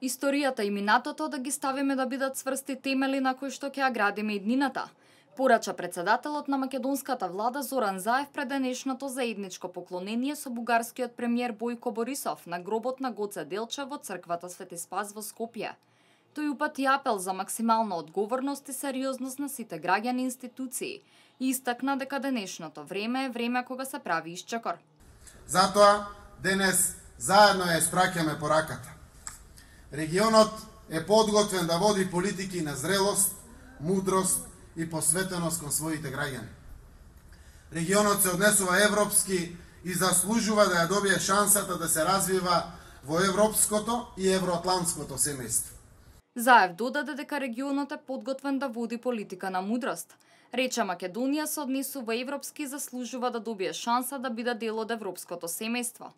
Историјата и минатото да ги ставиме да бидат цврсти темели на кои што ќе ја градиме иднината, порача председателот на македонската влада Зоран Заев пред денешното заедничко поклонение со бугарскиот премиер Бојко Борисов на гробот на Гоце Делчев во црквата Свети Спас во Скопје. Тој упати апел за максимална одговорност и сериозност на сите граѓани и институции и истакна дека денешното време е време кога се прави исчекор. Затоа денес заедно ја испраќаме пораката. Регионот е подготвен да води политики на зрелост, мудрост и посветеност кон своите граѓани. Регионот се однесува европски и заслужува да ја добие шансата да се развива во европското и евроатлантското семејство. Заев додаде дека регионот е подготвен да води политика на мудрост. Рече Македонија се однесува европски и заслужува да добие шанса да биде дел од европското семејство.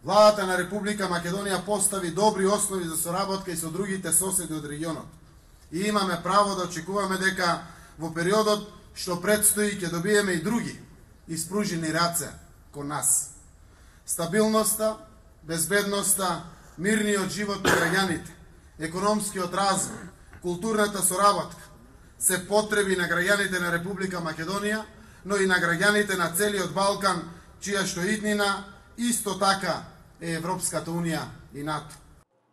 Владата на Република Македонија постави добри основи за соработка и со другите соседи од регионот. И имаме право да очекуваме дека во периодот што предстои ќе добиеме и други испружени раце кон нас. Стабилноста, безбедноста, мирниот живот на граѓаните, економскиот развој, културната соработка се потреби на граѓаните на Република Македонија, но и на граѓаните на целиот Балкан, чија што иднина исто така е Европската Унија и НАТО.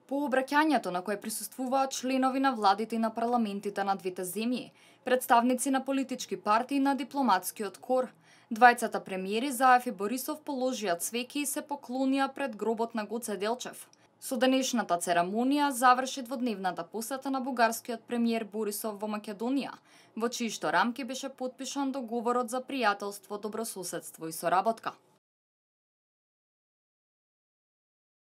По обраќањето на кое присуствуваат членови на владите и на парламентите на двете земји, представници на политички партии на дипломатскиот кор, двајцата премиери Заев и Борисов положија цвеки и се поклонија пред гробот на Гоце Делчев. Со денешната церемонија заврши дводневната посета на бугарскиот премиер Борисов во Македонија, во чии што рамки беше потпишан договорот за пријателство, добрососедство и соработка.